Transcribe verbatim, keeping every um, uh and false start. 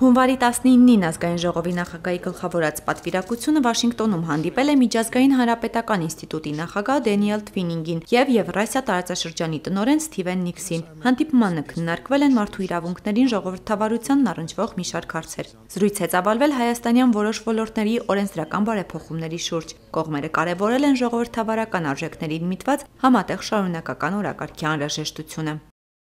Հունվարի տասնինին ազգային ժողովի նախագահի գլխավորած պատվիրակությունը Վաշինգտոնում հանդիպել է Միջազգային հանրապետական ինստիտուտի նախագահ Դենիել Թվինինգին և Եվրասիա տարածաշրջանի տնօրեն Սթիվեն Նիքսին։ Հանդիպմանը քննարկվել են մարդու իրավունքներին ժողովրդավարությանն առնչվող մի շարք հարցեր։ Զրույց է ծավալվել հայաստանյան որոշ ոլորտների օրենսդրական բարեփոխումների շուրջ։ Կողմերը կարևորել են ժողովրդավարական արժեքներին միտված համատեղ շարունակական օրակարգի անհրաժեշտությունը։